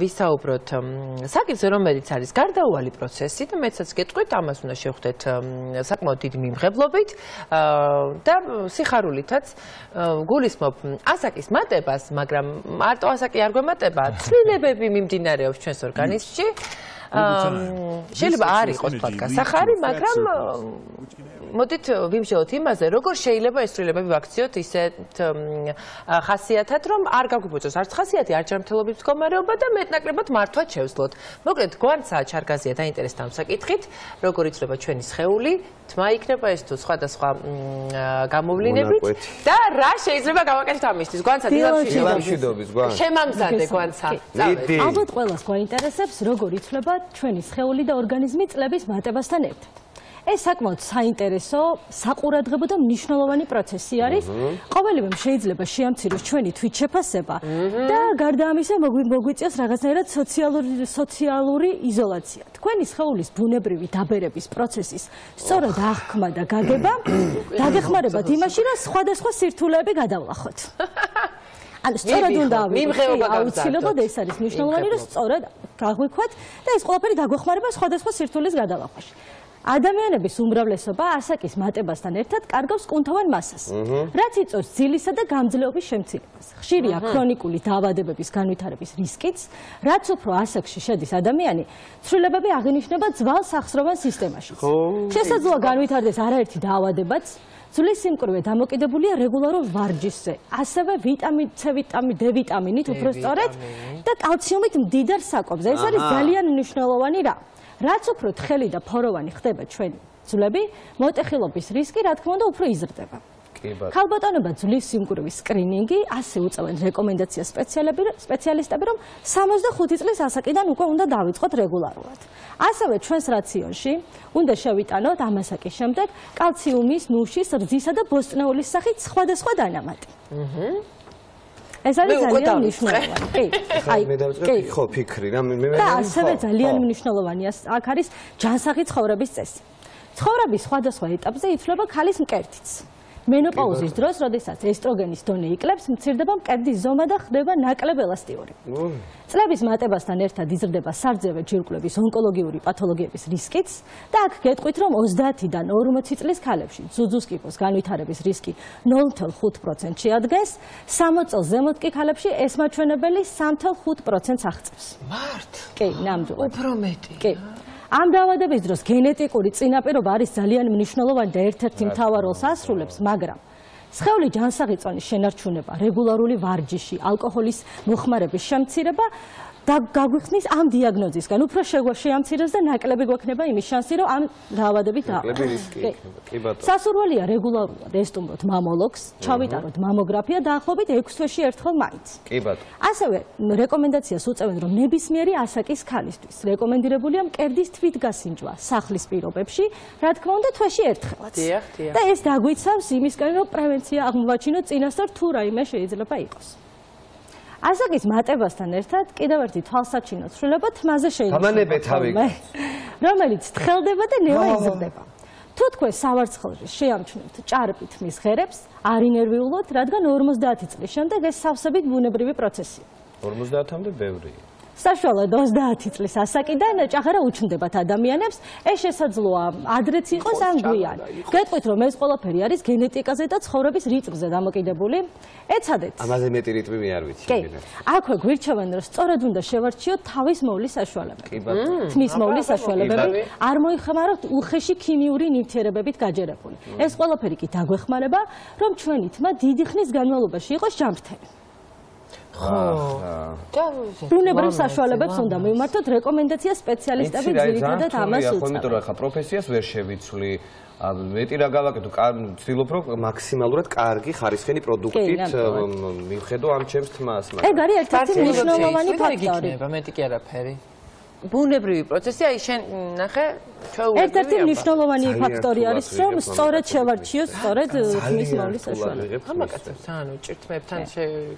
ვისაუბროთ საკითხზე, რომელიც არის გარდაუვალი პროცესი და მეცაც გეტყვით, ამას უნდა შევხვდეთ საკმაოდ დიდი მიმღებლობით და სიხარულითაც გულისხმობ ასაკის მატებას, მაგრამ მარტო ასაკი არ გვემატება, ცვლილებები მიმდინარეობს ჩვენს ორგანიზმში. შეიძლება არ იყოს თქვა გასახარი, მაგრამ მოდით ვიმსჯელოთ იმაზე, როგორ შეიძლება ეს ცვლილებები ვაქციოთ ისეთ ხასიათად, რომ არ გაგვიბოძოს არც ხასიათი, არც ჯანმრთელობის მდგომარეობა და მეტნაკლებად მართვაც შევძლოთ. მოკლედ, გვანცა ჩარგაზია დაინტერესდა ამ საკითხით, როგორ იცვლება ჩვენი სხეული, თმა იქნება ეს თუ სხვადასხვა გამოვლინებით და რა შეიძლება გავაკეთოთ ამისთვის. გვანცა დილამშვიდობის გვანცა. შემამზადე გვანცა. ალბათ ყველას გვაინტერესებს, როგორ იცვლება ჩვენი სხეული და ორგანიზმი წლების მატებასთან ერთად. ეს საკმაოდ საინტერესო, საყურადღებო და მნიშვნელოვანი პროცესი არის. ყოველივემ შეიძლება შეამციროს ჩვენი თვითშეფასება და გარდა ამისა მოგვიწევს რაღაცნაირად სოციალური იზოლაცია. თქვენი სხეულის ბუნებრივი დაბერების პროცესის სწორად აღქმა და გაგება დაგეხმარებათ იმაში, რომ სხვადასხვა სირთულეები გადავლახოთ. ანუ სწორად უნდა აუცილებლად ეს არის მნიშვნელოვანი, რომ სწორად გაგვიქვათ და ეს ყველაფერი დაგვეხმარება სხვადასხვა სირთულის გადალახვაში. ადამიანების უმრავლესობა ასაკის მატებასთან ერთად კარგავს კუნთოვან მასას, რაც იწვევს ძილისა და გამძლეობის შემცირებას. ხშირია ქრონიკული დაავადებების განვითარების რისკიც, რაც უფრო ასაკში შედის ადამიანი, ცვლილებები აღინიშნება ძველ სახსროვან სისტემაში. შესაძლოა განვითარდეს არაერთი დაავადებაც, ძვლის სიმკვრივე დამოკიდებულია რეგულარულ ვარჯიშზე, ასევე ვიტამინ C, D ვიტამინით უფრო სწორედ და კალციუმით მდიდარ საკვებზე. ეს არის ძალიან მნიშვნელოვანი რამ. რაც უფრო თხელი და ფოროვანი ხდება ჩვენი ძვლები, მოტეხილობის რისკი, რა თქმა უნდა, უფრო იზრდება. ქალბატონობა ძვლის სიმკვრივის სკრინინგი ასე უწევენ რეკომენდაციას სპეციალისტები, რომ 65 წლის ასაკიდან უკვე უნდა დავიწყოთ რეგულარულად. ასევე ჩვენს რაციონში უნდა შევიტანოთ ამ ასაკის შემდეგ კალციუმის, ნუშის, რძისა და ბოსტნეულის სახით სხვადასხვა დანამატი. ეს არის ძალიან მნიშვნელოვანი. კი, ხო, ფიქრი რა მე და ასევე ძალიან მნიშვნელოვანი აქ არის ჯანსაღი ცხოვრების წესი. ცხოვრების სხვადასხვა ეტაპზე იცვლება ქალის მკერდიც. მენოპაუზის დროს, როდესაც ესტროგენის დონე იკლებს, მცირდება მკერდის ზომა და ხდება ნაკლებ ელასტიური. წლების მატებასთან ერთად იზრდება სარძევე ჯირკვლების ონკოლოგიური პათოლოგიების რისკიც და აქ გეტყვით, რომ 30-დან 40 წლის ქალებში ძუძუს კიბოს განვითარების რისკი 0.5% შეადგენს, 60 წელს ზემოთ კი ქალებში ეს მაჩვენებელი 3.5%-ს აღწევს. მარტო. კი, ნამდვილად. უფრო მეტი. კი. ამ დაავადების დროს გენეტიკური წინაპირობა არის ძალიან მნიშვნელოვანი და ერთ-ერთი მთავარ როლს ასრულებს, მაგრამ სხეული ჯანსაღი წონის შენარჩუნება, რეგულარული ვარჯიში, ალკოჰოლის მოხმარების შემცირება და გაგვიხსნის ამ დიაგნოზისგან უფრო შეამცირებს და ნაკლები გვექნება იმის შანსი, რომ ამ დაავადებით დავყოთ. სასურველია რეგულარულად ესტუმროთ მამოლოგს, ჩავიტაროთ მამოგრაფია დაახლოებით 6 თვეში ერთხელ მაინც. ასევე რეკომენდაციას უწევენ, რომ ნებისმიერი ასაკის ქალისთვის რეკომენდირებულია მკერდის თვითგასინჯვა სახლის პირობებში, რა თქმა უნდა თვეში ერთხელაც. და ეს დაგვიცავს იმისკენ, რომ პრევენცია აღმოვაჩინოთ წინასწარ თუ რაიმე შეიძლება იყოს. ასაკის მატებასთან ერთად კიდევ ერთი თვალსაჩინო ცვლილება თმაზე შეიძლება, რომელიც თხელდება და ნელა იზრდება. თუ თქვენ სავარცხლში შეამჩნევთ ჭარბი თმის ღერებს, არ ინერვიულოთ, რადგან 50 წლის შემდეგ ეს სავსებით ბუნებრივი პროცესია. 50-მდე ბევრია. საშუალოდ 30 წლის ასაკიდან ჭაღარა უჩნდებათ ადამიანებს, ეს შესაძლოა ადრეც იყოს ან გვიან. გეტყვით, რომ ეს ყველაფერი არის გენეტიკაზე და ცხოვრების რიტმზე დამოკიდებული. ეცადეთ. ამაზე მეტი რიტმი მე არ ვიცი. აქვე გვირჩევენ, რომ სწორად უნდა შევარჩიოთ თავის მოვლის საშუალებები. თმის მოვლის საშუალებები, არ მოიხმაროთ უხეში ქიმიური ნივთიერებებით გაჯერებული. ეს ყველაფერი კი დაგვეხმარება, რომ ჩვენი თმა დიდი ხნის განმავლობაში იყოს ჯანმრთელი. ბუნებრივ საშუალებებს უნდა მივმართოთ, რეკომენდაცია სპეციალისტები ძირითადად ამას უწევენ. იმიტომ რომ ხა პროფესიას ვერ შევიცვლი, მეტი რა გავაკეთო, ვცდილობ რომ მაქსიმალურად კარგი ხარისხიანი პროდუქტით მივხედო ამ ჩემს თმას. ეგ არის ერთ-ერთი მნიშვნელოვანი ფაქტორი. მეტი კი არაფერი. ბუნებრივი პროცესი, აი შენ ნახე, ჩვეულებრივია. ერთ-ერთი მნიშვნელოვანი ფაქტორი არის, რომ სწორედ შევარჩიოს სწორედ თმის მოვლის საშუალებები. ამაკაცებს ანუ ჭირთმებთან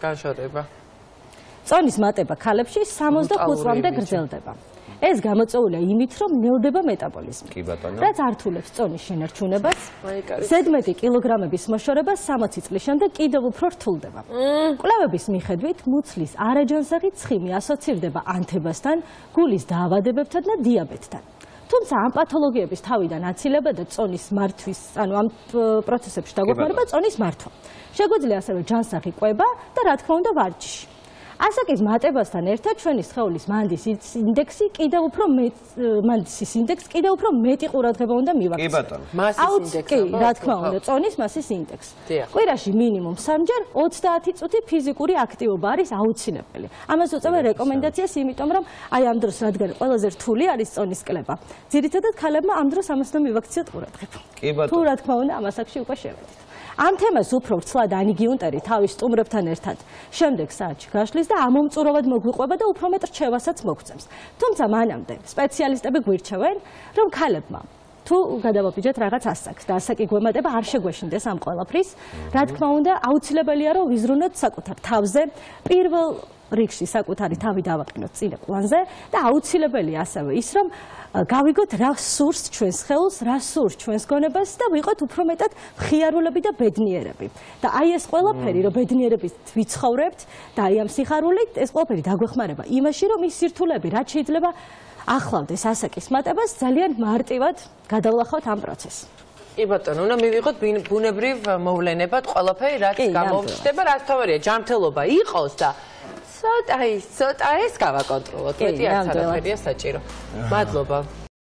განშორება. წონის მატება ქალებში 65 წლამდე გრძელდება. ეს გამოწვეულია იმით, რომ ნელდება მეტაბოლიზმი. კი ბატონო. რაც ართულებს წონის შენარჩუნებას, ზედმეტი კილოგრამების მოშორება 60 წლის შემდეგ კიდევ უფრო რთულდება. კვლევების მიხედვით, მუცლის არაჯანსაღი ცხიმი ასოცირდება ანთებასთან, გულის დაავადებებთან და დიაბეტთან. თუმცა ამ პათოლოგიების თავიდან აცილება და წონის მართვის, ანუ ამ პროცესებში დაგვეხმარება წონის მართვა. შეგვიძლია ასევე ჯანსაღი კვება და რა თქმა უნდა ვარჯიში. ასაკის მატებასთან ერთად ჩვენი სხეულის მანდისის ინდექსი კიდევ უფრო მეტი ყურადღება უნდა მივაქციოთ. კი ბატონო. მასის ინდექსი. კი, რა თქმა უნდა, წონის მასის ინდექსი. კვირაში მინიმუმ 3-ჯერ 30 წუთი ფიზიკური აქტივობა არის აუცილებელი. ამას უწევენ რეკომენდაციას, იმიტომ რომ აი ამ დროს რადგან ყველაზე რთული არის წონის კლება. ძირითადად ქალებმა ამ დროს ამას უნდა მივაქციოთ ყურადღება. კი ბატონო. თუ რა თქმა უნდა, ამ ასაკში უკვე შევედით. ამ თემას უფრო ვრცლად ანი გიუნტერი თავის სტუმრებთან ერთად შემდეგ საათში გაშლის და ამომწურავად მოგვიყვება და უფრო მეტ რჩევასაც მოგწევს. თუმცა მანამდე სპეციალისტები გვირჩევენ, რომ ქალებმა თუ გადავაბიჯეთ რაღაც ასაკს და ასაკი გვემატება არ შეგვეშინდეს ამ ყველაფრის, რა თქმა უნდა, აუცილებელია რომ ვიზრუნოთ საკუთარ თავზე, პირველ რიგში საკუთარი თავი დავაყენოთ წინა პლანზე და აუცილებელია ასევე ის, რომ გავიგოთ რა სურს ჩვენს ხელს, რა სურს ჩვენს გონებას და ვიყოთ უფრო მეტად მხიარულები და ბედნიერები. და აი ეს ყველაფერი, რომ ბედნიერებით ვიცხოვრებთ და აი ამ სიხარულით ეს ყველაფერი დაგვეხმარება იმაში, რომ ის სირთულეები რაც შეიძლება ახლავდეს ასაკის მატებას, ძალიან მარტივად გადავლახავთ ამ პროცესს. კი ბატონო, უნდა მივიღოთ ბუნებრივ მოვლენებად ყველაფერი, რაც გამოჩნდება, რაც თავარია, ჯანმრთელობა იყოს და ცოტა ეს გავაკონტროლოთ. მეტი არც არაფერია საჭირო. მადლობა.